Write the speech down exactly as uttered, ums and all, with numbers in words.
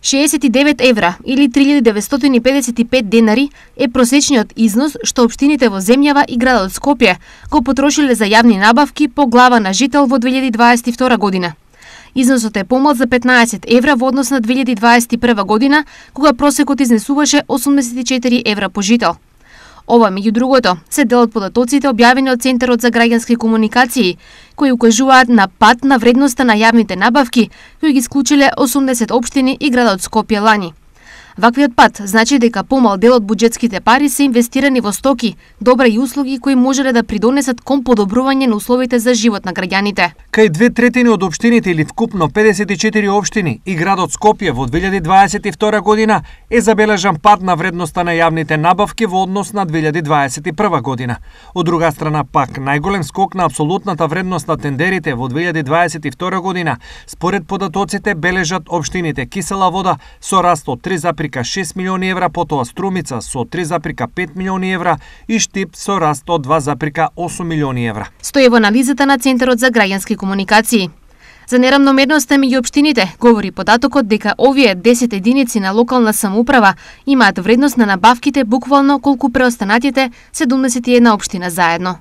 шеесет и девет евра или три илјади деветстотини и педесет и пет денари е просечниот износ што општините во земјава и градот Скопје го потрошиле за јавни набавки по глава на жител во две илјади дваесет и втора година. Износот е помал за петнаесет евра во однос на две илјади дваесет и прва година, кога просекот изнесуваше осумдесет и четири евра по жител. Ова, меѓу другото, се дел од податоците објавени од Центарот за граѓански комуникации, кои укажуваат на пад на вредноста на јавните набавки, кои ги исклучиле осумдесет општини и градот Скопје лани. Ваквиот пат значи дека помал дел од буџетските пари се инвестирани во стоки, добра и услуги кои можеле да придонесат кон подобрување на условите за живот на граѓаните. Кај две третини од општините или вкупно педесет и четири општини и градот Скопје во две илјади дваесет и втора година е забележан пад на вредноста на јавните набавки во однос на две илјади дваесет и прва година. Од друга страна пак најголем скок на апсолутната вредност на тендерите во две илјади дваесет и втора година според податоците бележат општините Кисела Вода со раст од три запирка шест милиони евра, потоа Струмица со три запирка пет милиони евра и Штип со раст од два запирка осум милиони евра. Стои во анализата на Центарот за граѓански комуникации. За неравномерноста меѓу општините говори податокот дека овие десет единици на локална самоуправа имаат вредност на набавките буквално колку преостанатите седумдесет и една општина заедно.